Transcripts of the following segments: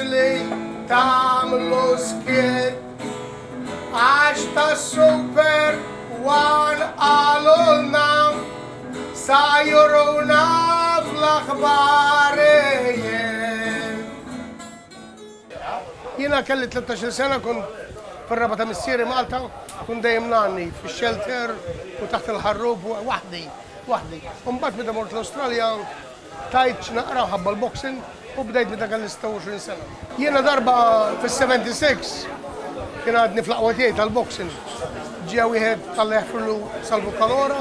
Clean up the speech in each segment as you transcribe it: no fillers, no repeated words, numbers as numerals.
Faċli tagħmlu skiet għax ta' Super One qalulna sa juruna fl-aħbarijiet. Jiena kelli 13-il sena kont fir-raba' ta' missieri Malta, kont dejjem ngħanni fix-shelter u taħt il-ħarrub waħdi, waħdi. U mbagħad meta mort l-Awstralja tajt x'naqra ħabba l-boxing u bdejt meta kelli 26 sena. Jiena darba fis-76 kien għadni fl-aqwa tiegħi tal-boxing. Ġie wieħed Alla jaħfirlu Salvu Kalora,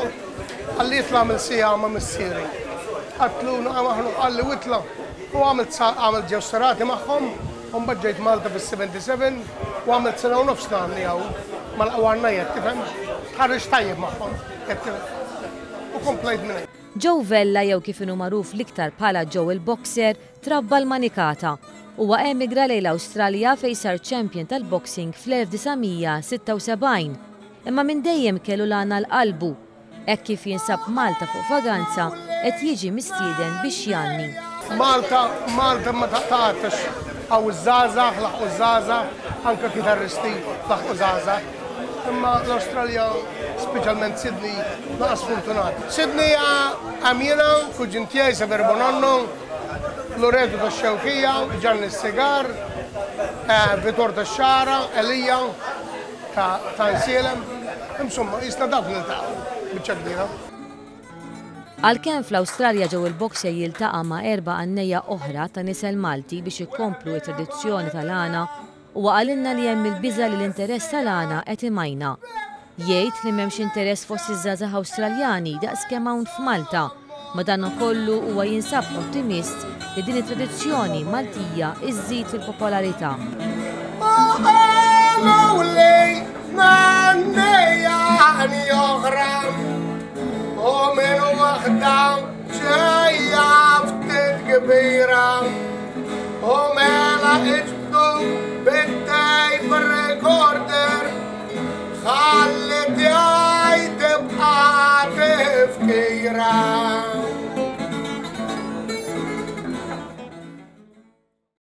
qalli itla' għamel siegħa ma' missieri. Għedtlu naqa' maħnuq qalli u itla'. U għamilt għamilt ġew serati magħhom u mbagħad ġejt Malta fis-77 u għamilt sena u nofs ngħanni hawn mal-aqwa għannejja, tifhem? Tħarriġt tajjeb magħhom, qed tifhem? U komplejt minn hemm. Joe Vella jew kif inhu magħruf l-iktar bħala Joe il-Boxer trabba l-Manikata. Huwa emigra lejn l-Awstralja fejn sar champion tal-boxing fl-1976. Imma minn dejjem kellu l-għana għal qalbu Hekk kif jinsab Malta fuq vaganza, qed jiġi mistieden biex jgħanni. Malta, Malta ma taqtgħax hawn iż-żgħażagħ, laħqu ż-żgħażagħ, anke kitarristi laħqu żgħażagħ. Imma l-Awstralja, speċjalment Sydney, naqas sfortunat. Sydney hemm jiena, kuġin tiegħi Sever Bonanno, Loreto tax-Xewkija, Gianni s-Sigar, Vitor tax-Xagħra, Elija. Ta' ta' nsielem, insomma, jisna dawk niltaqgħu biċċa kbira. Għalkemm fl-Awstralja Joe il-Boxer jiltaqa' ma' erba' għannejja oħra ta' nisel Malti biex ikomplu t-tradizzjoni tal-għana, huwa qalilna li hemm il-biża' li l-interess tal-għana qed imajna. Jgħid li m'hemmx interess fost iż-żgħażagħ Awstraljani daqs kemm hawn f'Malta. Madankollu huwa jinsab ottimist li din it-tradizzjoni Maltija żżid fil-popolarità.